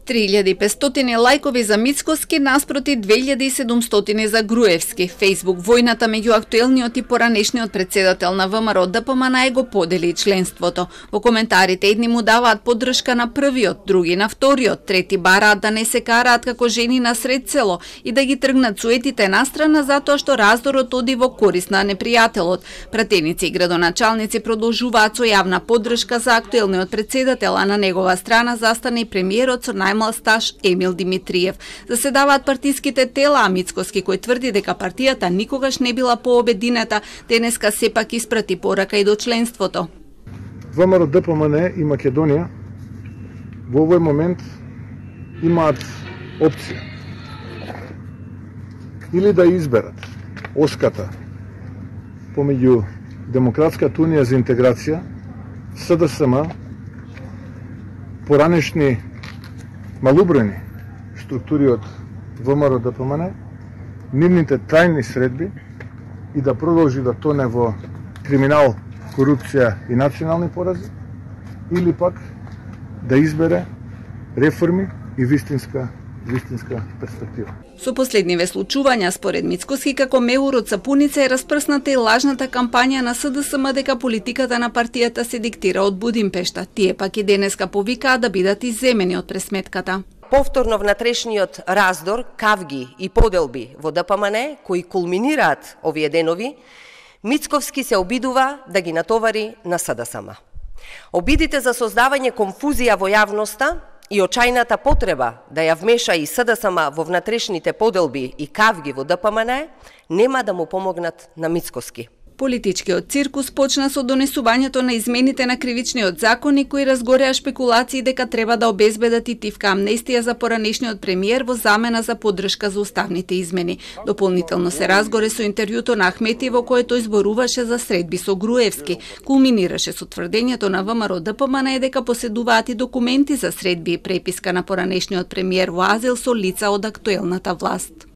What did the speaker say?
3500 лајкови за Мицкоски наспроти 2700 за Груевски. Фејсбук војната меѓу актуелниот и поранешниот председател на ВМРО ДПМН го подели членството. Во коментарите едни му даваат поддршка на првиот, други на вториот, трети бараат да не се караат како жени на сред село и да ги тргнат суетите настрана затоа што раздорот оди во корист на непријателот. Пратеници и градоначалници продолжуваат со јавна поддршка за актуелниот председател, а на негова страна застане и премиерот со најмал стаж Емил Димитриев. Заседаваат партиските тела, а Мицкоски, кој тврди дека партијата никогаш не била пообединета, денеска сепак испрати порака и до членството. ВМРО ДПМН и Македонија во овој момент имаат опција или да изберат оската помеѓу Демократската унија за интеграција, СДСМ, поранешни малубројни структури од ВМРО ДПМН, нивните трајни средби и да продолжи да тоне во криминал, корупција и национални порази, или пак да избере реформи и вистинска перспектива. Со последниве случувања, според Мицкоски, како меур од сапуница е распрсната и лажната кампања на СДСМ дека политиката на партијата се диктира од Будимпешта. Тие пак и денеска повикаат да бидат изземени од пресметката. Повторно внатрешниот раздор, кавги и поделби во ДПМН, кои кулминираат овие денови, Мицковски се обидува да ги натовари на СДСМ. Обидите за создавање конфузија во јавноста и очајната потреба да ја вмеша и СДСМ во внатрешните поделби и кавги во ДПМН нема да му помогнат на Мицкоски. Политичкиот циркус почна со донесувањето на измените на кривичниот закон и кои разгореа шпекулации дека треба да обезбедат и тивка амнестија за поранешниот премиер во замена за поддршка за уставните измени. Дополнително се разгоре со интервјуто на Ахмети во кое тој зборуваше за средби со Груевски. Кулминираше со тврдењето на ВМРО ДПМН дека поседуваат и документи за средби и преписка на поранешниот премиер во азил со лица од актуелната власт.